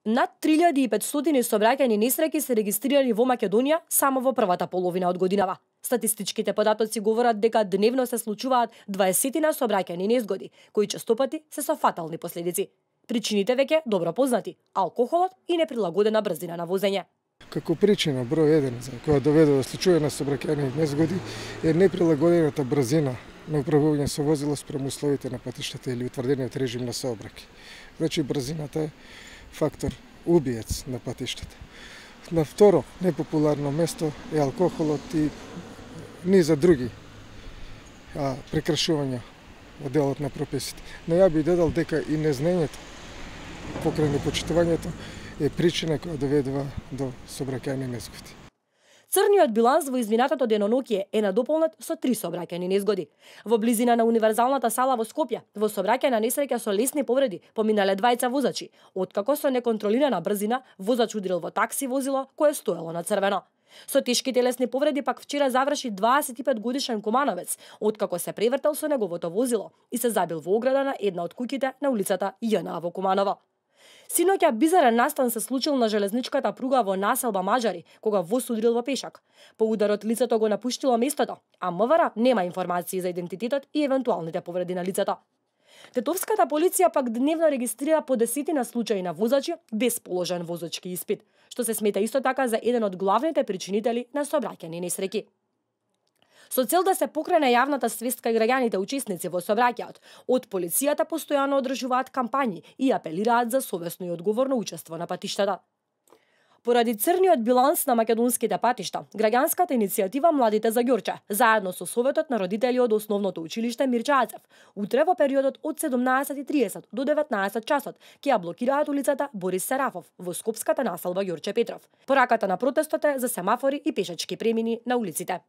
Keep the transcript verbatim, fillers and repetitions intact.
Над три илјади и петстотини сообраќајни несреќи се регистрирани во Македонија само во првата половина од годинава. Статистичките податоци говорат дека дневно се случуваат дваесетина сообраќајни незгоди, кои честопати се со фатални последици. Причините веќе добро познати: алкохолот и неприлагодена брзина на возење. Како причина број еден за која доведе до случување на сообраќајни незгоди е неприлагодената брзина на управување со возило спрема условите на патиштата или утврдениот режим на сообраќај. Значи брзината е фактор убиец на патиштата. На второ непопуларно место е алкохолот и низа други а, прекршувања во делот на прописите. Но ја би додал дека и незнаењето покрај непочитувањето е причина која доведува до сообраќајни незгоди. Црниот биланс во изминатото деноноќие е надополнет со три сообраќајни незгоди. Во близина на универзалната сала во Скопје, во сообраќајна несреќа со лесни повреди поминале двајца возачи, откако со неконтролирана брзина возач удрил во такси возило кое стоело на црвено. Со тешки телесни повреди пак вчера заврши дваесет и пет годишен кумановец, откако се превртел со неговото возило и се забил во ограда на една од куќите на улицата Ј.Н.А. во Куманово. Синоќа бизарен настан се случил на железничката пруга во населба Маџари, кога воз удрил во пешак. По ударот лицето го напуштило местото, а МВР нема информации за идентитетот и евентуалните повреди на лицето. Тетовската полиција пак дневно регистрира по десетина случаи на возачи без положен возачки испит, што се смета исто така за еден од главните причинители на сообраќајни несреќи. Со цел да се покрене јавната свест кај граѓаните учесници во сообраќајот, од полицијата постојано одржуваат кампањи и апелираат за совесно и одговорно учество на патиштата. Поради црниот биланс на македонските патишта, граѓанската иницијатива Младите за Ѓорче, заедно со Советот на родители од Основното училиште Мирче Ацев, утре во периодот од седумнаесет и триесет до деветнаесет часот ќе ја блокираат улицата Борис Серафов во скопската населба Ѓорче Петров. Пораката на протестот е за семафори и пешачки премини на улиците.